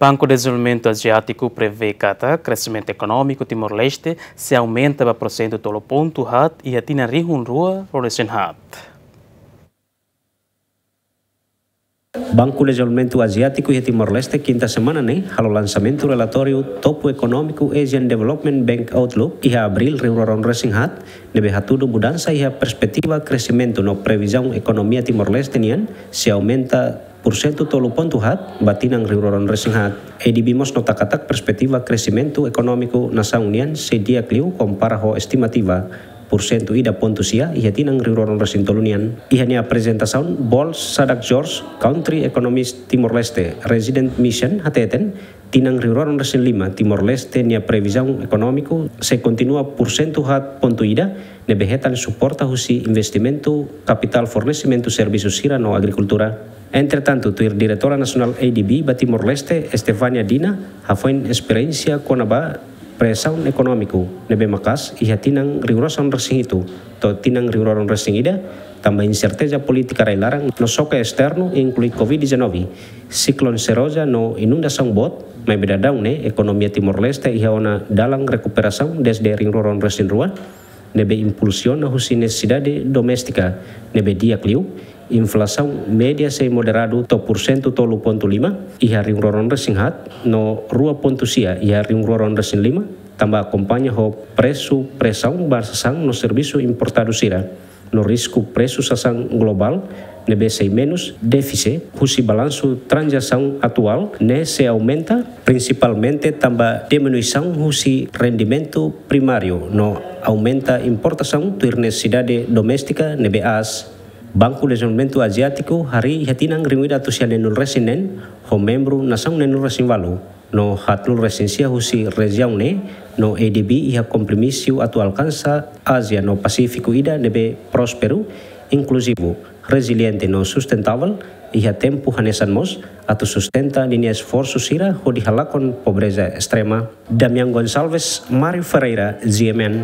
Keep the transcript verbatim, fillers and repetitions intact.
Banku Dezenvolvimentu Aziátiku prevee katak kresimentu ekonómiku Timor-Leste sei aumenta ba porsentu tolu pontu haat iha tinan rihun rua ruanulu-resin-haat. Banku Dezenvolvimentu Aziátiku iha Timor-Leste kinta semana ne'e halo lansamentu relatóriu topo ekonómiku Asian Development Bank Outlook iha abríl rihun rua ruanulu-resin-haat, ne'ebé hatudu mudansa iha perspetiva kresimentu no previzaun ekonomia Timor-Leste nian sei aumenta porsentu tolu pontu haat ba tinan rihun rua ruanulu-resin-haat. ADB mós nota katak perspetiva kresimentu ekonómiku nasaun nian sei di'ak liu kompara ho estimativa porsentu ida pontu sia iha tinan rihun rua ruanulu-resin-tolu nian. Iha nia aprezentasaun, Bols Sadak George, Country Economist Timor-Leste Resident Mission, hateten, tinan rihun rua ruanulu-resin-lima Timor-Leste nia previzaun ekonómiku sei kontinua porsentu haat pontu ida, ne'ebé hetan suporta husi investimentu, kapitál fornesimentu servisu sira no agrikultura. Entretantu, tuir Diretora Nasionál ADB ba Timor-Leste, Estefania Dina, hafoin esperiénsia kona-ba presaun ekonómiku ne'ebé maka'as iha tinan rihun rua ruanulu-resin-hitu to'o tinan rihun rua ruanulu-resin-ida, tanba inserteza polítika rai-laran no xoke esternu, inklui Covid dezanove, siklone Seroja no inundasaun boot, maibé daudaun ne'e ekonomia Timor-Leste iha ona dalan rekuperasaun dezde rihun rua ruanulu-resin-rua, ne'ebé impulsiona husi nesesidade doméstika ne'ebé di'ak liu, inflasaun média sei moderadu to'o porsentu tolu pontu lima iha rihun rua ruanulu-resin-haat no rua pontu sia iha rihun rua ruanulu-resin-lima, tanba akompaña ho presu presaun ba sasán no servisu importadu sira, no risku presu sasán globál ne'ebé sei menus, défise husi balansu tranzasaun atuál ne'e sei aumenta, prinsipalmente tanba diminuisaun husi rendimentu primáriu no aumenta importasaun tuir nesesidade doméstika ne'ebé aas. Banku Dezenvolvimentu Aziátiku harii iha tinan rihun ida atus sia neenulu-resin-neen ho membru nasaun neenulu-resin-ualu no haatnulu-resin-sia husi rejiaun ne'e, no ADB iha kompromisu atu alkansa Ázia no Pasífiku ida ne'ebé prósperu, inkluzivu, reziliente no sustentável, iha tempu hanesan mós atu sustenta ninia esforsu sira hodi halakon pobreza estrema. Damian Gonçalves, Mário Ferreira, G M N.